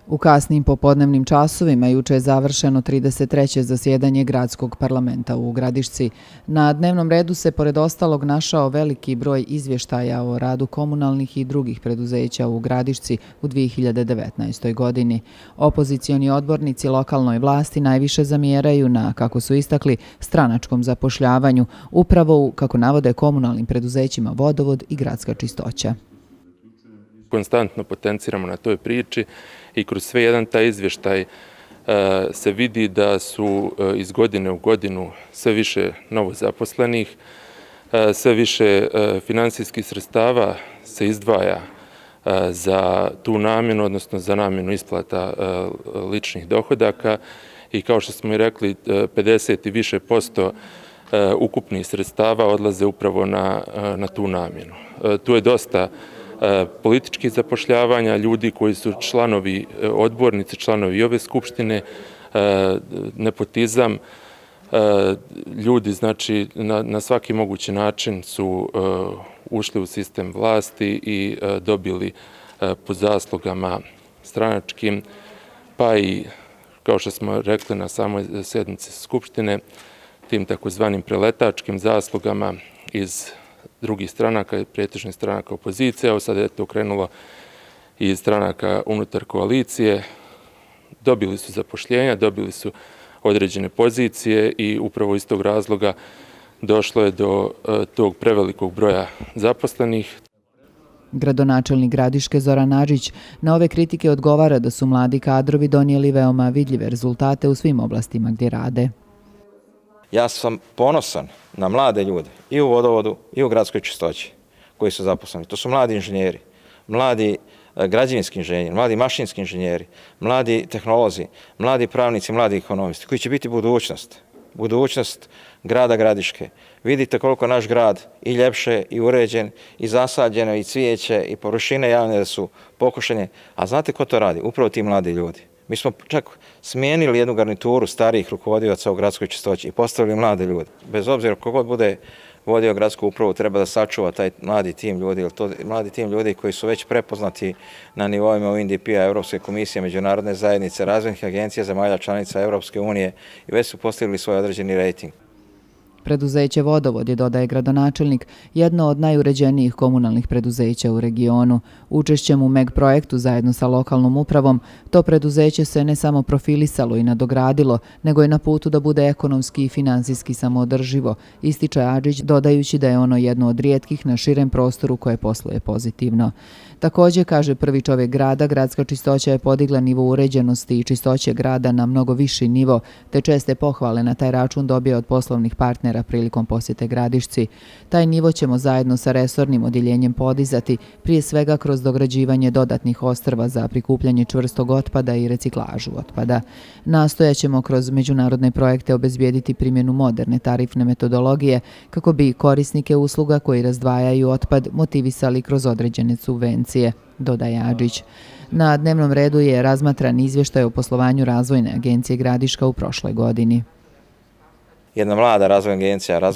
U kasnim popodnevnim časovima juče je završeno 33. zasjedanje Gradskog parlamenta u Gradišci. Na dnevnom redu se pored ostalog našao veliki broj izvještaja o radu komunalnih i drugih preduzeća u Gradišci u 2019. godini. Opozicioni odbornici lokalnoj vlasti najviše zamjeraju na, kako su istakli, stranačkom zapošljavanju, upravo u, kako navode, komunalnim preduzećima Vodovod i Gradska čistoća. Konstantno potenciramo na toj priči i kroz sve jedan taj izvještaj se vidi da su iz godine u godinu sve više novozaposlenih, sve više finansijskih sredstava se izdvaja za tu namjenu, odnosno za namjenu isplata ličnih dohodaka i kao što smo i rekli, 50 i više posto ukupnih sredstava odlaze upravo na tu namjenu. Tu je dosta političkih zapošljavanja, ljudi koji su članovi, odbornici, članovi ove skupštine, nepotizam, ljudi znači na svaki mogući način su ušli u sistem vlasti i dobili po zaslugama stranačkim, pa i kao što smo rekli na samoj sjednici skupštine, tim takozvanim preletačkim zaslugama iz drugih stranaka, pretežnih stranaka opozicije, evo sada je to krenulo i iz stranaka unutar koalicije, dobili su zapošljenja, dobili su određene pozicije i upravo iz tog razloga došlo je do tog prevelikog broja zaposlenih. Gradonačelnik Gradiške Zoran Adžić na ove kritike odgovara da su mladi kadrovi donijeli veoma vidljive rezultate u svim oblastima gdje rade. Ja sam ponosan na mlade ljude i u Vodovodu i u Gradskoj čistoći koji su zaposleni. To su mladi inženjeri, mladi građevinski inženjeri, mladi mašinski inženjeri, mladi tehnolozi, mladi pravnici, mladi ekonomisti koji će biti budućnost grada Gradiške. Vidite koliko naš grad i ljepše i uređen i zasađeno i cvijeće i površine javne da su pokošene. A znate ko to radi? Upravo ti mladi ljudi. Mi smo čak smijenili jednu garnituru starijih rukovodioca u Gradskoj čistoći i postavili mlade ljude. Bez obzira kogod bude vodio gradsku upravu, treba da sačuva taj mladi tim ljudi, jer to mladi tim ljudi koji su već prepoznati na nivoima UNDP-a, Europske komisije, međunarodne zajednice, razvojnih agencija, zemalja članica Europske unije i već su postigli svoj određeni rejting. Preduzeće Vodovod je, dodaje gradonačelnik, jedno od najuređenijih komunalnih preduzeća u regionu. Učešćem u MEG projektu zajedno sa lokalnom upravom, to preduzeće se ne samo profilisalo i nadogradilo, nego je na putu da bude ekonomski i finansijski samoodrživo, ističe Adžić, dodajući da je ono jedno od rijetkih na širem prostoru koje posluje pozitivno. Također, kaže prvi čovjek grada, Gradska čistoća je podigla nivo uređenosti i čistoće grada na mnogo viši nivo, te česte pohvale na taj račun dobije od poslovnih partnera prilikom posjete Gradišci. Taj nivo ćemo zajedno sa resornim odjeljenjem podizati, prije svega kroz dograđivanje dodatnih ostrva za prikupljanje čvrstog otpada i reciklažu otpada. Nastojaćemo kroz međunarodne projekte obezbijediti primjenu moderne tarifne metodologije kako bi korisnike usluga koji razdvajaju otpad motivisali kroz određene subvencije, dodaje Adžić. Na dnevnom redu je razmatran izvještaj o poslovanju Razvojne agencije Gradiška u prošloj godini. Jedna mlada razvojna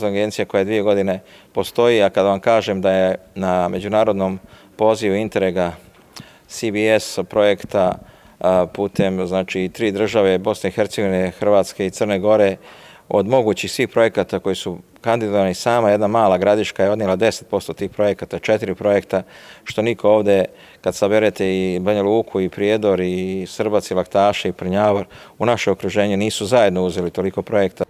agencija koja 2 godine postoji, a kada vam kažem da je na međunarodnom pozivu Interrega CBS projekta putem znači 3 države, Bosne i Hercegovine, Hrvatske i Crne Gore, od mogućih svih projekata koji su kandidovani, sama jedna mala Gradiška je odnijela 10% tih projekata, 4 projekta, što niko ovdje, kad saberete i Banja Luku, i Prijedor, i Srbac, i Laktaše, i Prnjavor, u naše okruženje nisu zajedno uzeli toliko projekta.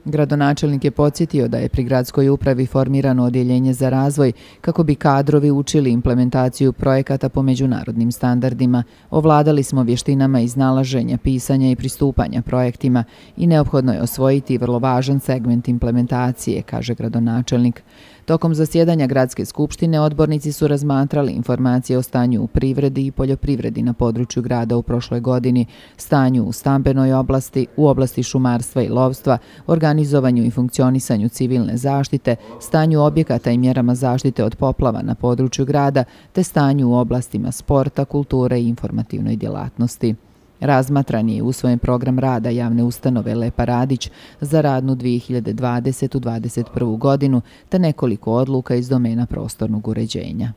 Gradonačelnik je podsjetio da je pri gradskoj upravi formirano odjeljenje za razvoj kako bi kadrovi učili implementaciju projekata po međunarodnim standardima. Ovladali smo vještinama iznalaženja, pisanja i pristupanja projektima i neophodno je osvojiti vrlo važan segment implementacije, kaže gradonačelnik. Tokom zasjedanja Gradske skupštine odbornici su razmatrali informacije o stanju u privredi i poljoprivredi na području grada u prošloj godini, stanju u stambenoj oblasti, u oblasti šumarstva i lovstva, organizovanju i funkcionisanju civilne zaštite, stanju objekata i mjerama zaštite od poplava na području grada, te stanju u oblastima sporta, kulture i informativnoj djelatnosti. Razmatran je usvojen program rada javne ustanove Lepa Radić za radnu 2020-2021. godinu te nekoliko odluka iz domena prostornog uređenja.